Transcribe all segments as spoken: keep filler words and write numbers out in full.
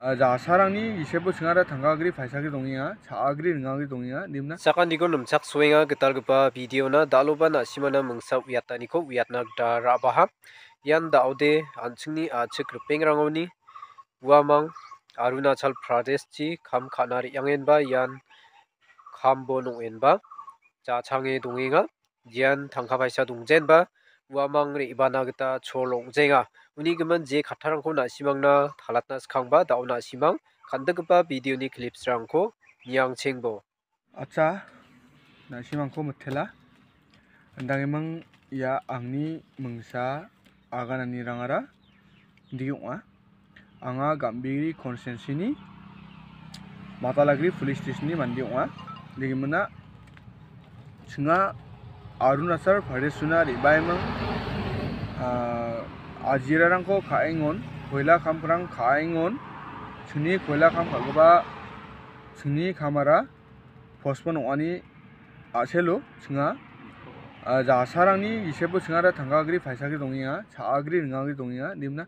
Ah, jasarangni gisepo chingara tangkagri paisagri dongenga, cha·agri ringagri dongenga, indimna. Sakantikon nimchaksoenga gitalgipa videona, dal·oba na·simana mingsa uiataniko uiatna gita ra·baha. Ian da·ode an·chingni a·chik ripengrangoni uamang Arunachal Pradeshchi kam ka·na re·angenba ian kambo nong·enba jachange dongenga. Ian tangka paisa dongjenba uamang re·bana gita chol ong·jenga. Uni gimin je kattarangko na·simangna talatna skangba da·o na·simang kan·dikgipa videoni clipsrangko niangchengbo. Acha, na·simangko mitela. Indangiming ia angni mingsa agananirangara indi ong·a. Anga Gambegre constituencyni Matalagiri police stationni mande ong·a. Indegimina chinga Arunachal Pradeshona re·baiming, ah, ajirarangko ka·engon, koila kamrang ka·engon, chingni koila kam ka·gipa chingni kamara postpone ong·ani a·selo chinga, ah, jasarangni gisepo chingara tangkagri paisagri dongenga, cha·agri ringagri dongenga, indimna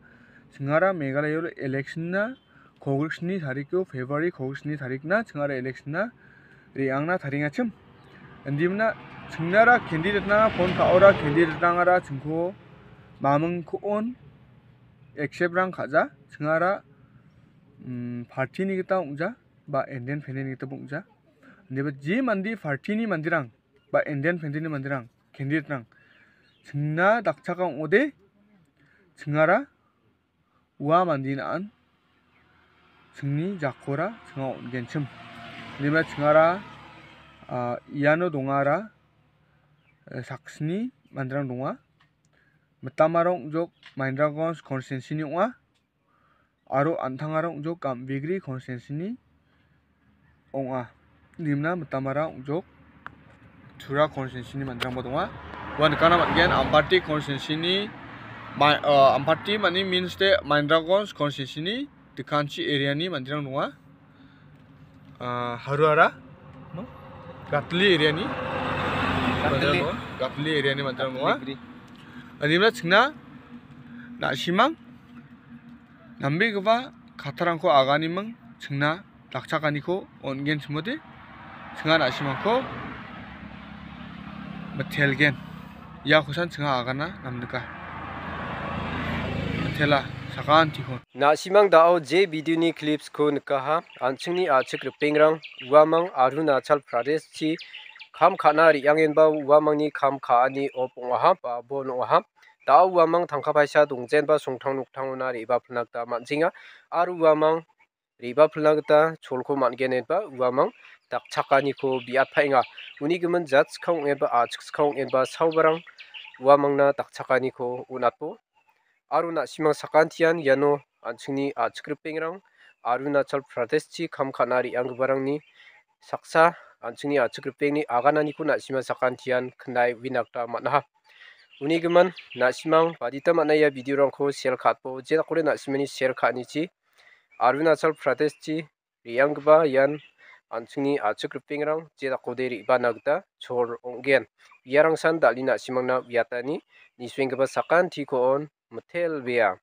chingara Meghalaya election-na kogriksni tariko, February kogriksni tarikna chingara election-na re·angna tariengachim. Indimna chingnara candidate-na phone ka·ora candidate-rangara chingko mamingko on accept-rang ka·ja, chingara, mm, party-ni gita ong·ja, ba independent-ni gita ong·ja. Indiba je mande party-ni manderang, ba independent-ni manderang, candidate-rang chingna dakchaka ong·ode, chingara ua mande na·an chingni jakora chinga on·genchim. Indiba chingara, ah, iano dongara, eh, saksni manderang donga. Mitamara ong·jok Mahendraganj constituency-ni ong·a. Aro an·tangara ong·jok Gambegre constituency-ni ong·a. Indimna mitamara ong·jok Tura constituency-ni manderangba donga. Ua nikna man·gen, Ampati constituency-ni ma-, ah, Ampati mani means de Mahendraganj constituency-ni Dikanchi area-ni manderang donga. Ah, Haruara, no? Gatli area-ni Gatli. Manderang donga. Gatli area-ni manderang donga. Gatli. Indimna chingna na·simang nambegipa kattarangko aganiming chingna dakchakaniko on·gen chimode, chinga na·simangko mitelgen. Iakosan chinga agana namnika. Mitela, sakantikon. Na·simang da·o je videoni clipsko nikaha, an·chingni a·chik ripengrang uamang Arunachal Pradeshchi kam ka·na re·angenba uamangni kam ka·ani op ong·aha, ba bon ong·aha. Da·o uamang tangka paisa dongjenba songtang noktangona re·bapilna gita man·jenga. Aro uamang re·bapilna gita cholko man·gen inba uamang dakchakaniko biatpaenga. Uni gimin jatskang ong·enba a·chikskang ong·enba saobarang uamangna dakchakaniko on·atbo. Aro na·simang sakantian iano an·chingni a·chik ripengrang Arunachal Pradeshchi kam ka·na re·anggiparangni saksa an·chingni a·chik ripengni agananiko na·sima sakantian knae uina gita man·aha. Uni gimin na·simang badita man·a ia videorangko share ka·atbo, je dakode na·simani share ka·anichi Arunachal Pradeshchi re·anggipa ian an·chingni a·chik ripengrang je dakode re·bana gita chol ong·gen. Iarangsan dal·e na·simangna uiatani nisuenggipa sakantiko on mitelbea.